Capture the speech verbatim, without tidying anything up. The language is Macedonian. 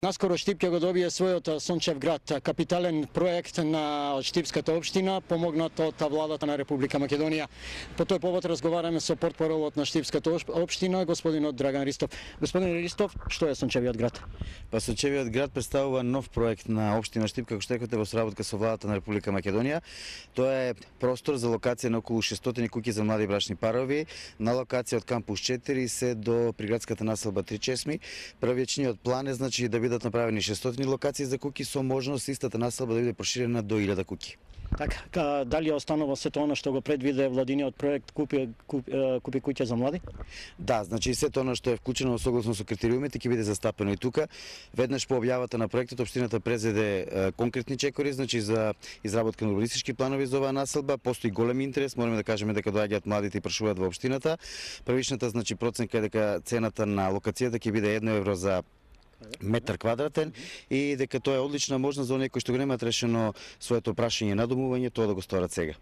Наскоро Штип ќе го добие својот Сончев град, капитален проект на Штипската општина, помогнат од владата на Република Македонија. По тој повод разговараме со портпаролот на Штипската општина, господинот Драган Ристов. Господин Ристов, што е Сончевиот град? Па Сончевиот град представува нов проект на општина Штип, како што рекоте, во соработка со владата на Република Македонија. Тоа е простор за локација на околу шестстотини куќи за млади брачни парови, на локација од кампус четири се до приградската населба три чесми. Првичниот план е значи да бидат направени шестстотини локации за куќи со можност истата населба да биде проширена до илјада куќи. Така, дали останува сето она што го предвиде владиниот проект купи, купи, купи куќа за млади? Да, значи сето она што е вклучено согласно со критериумите ќе биде застапено и тука. Веднаш по објавата на проектот општината презеде конкретни чекори, значи за изработка на урбанистички планови за оваа населба. Постои голем интерес, мораме да кажеме дека доаѓаат младите и прашуваат во општината. Првичната значи проценка е дека цената на локацијата ќе биде едно евро за метар квадратен и дека тоа е одлична можност за оние кои што го немаат решено своето прашање на домување, тоа да го сторат сега.